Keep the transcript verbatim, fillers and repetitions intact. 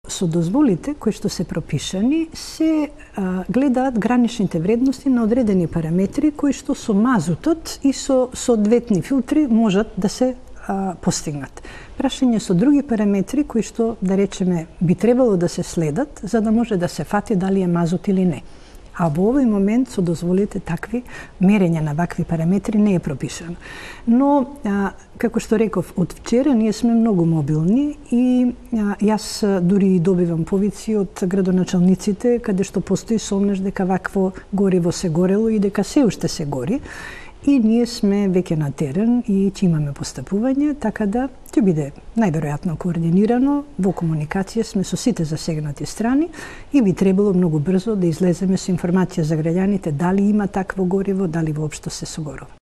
Со дозволите кои што се пропишани се а, гледаат граничните вредности на одредени параметри кои што со мазутот и со соодветни филтри можат да се а, постигнат. Прашање со други параметри кои што, да речеме, би требало да се следат за да може да се фати дали е мазут или не. А во овој момент со дозволите такви мерења на вакви параметри не е пропишано. Но, а, како што реков, од вчера ние сме многу мобилни и а, јас дури добивам повици од градоначалниците каде што постои сомнеш дека вакво гориво се горело и дека се уште се гори. И ние сме веќе на терен и ќе имаме постапување, така да ќе биде најверојатно координирано, во комуникација сме со сите засегнати страни и би требало многу брзо да излеземе со информација за граѓаните дали има такво гориво, дали воопшто се согорува.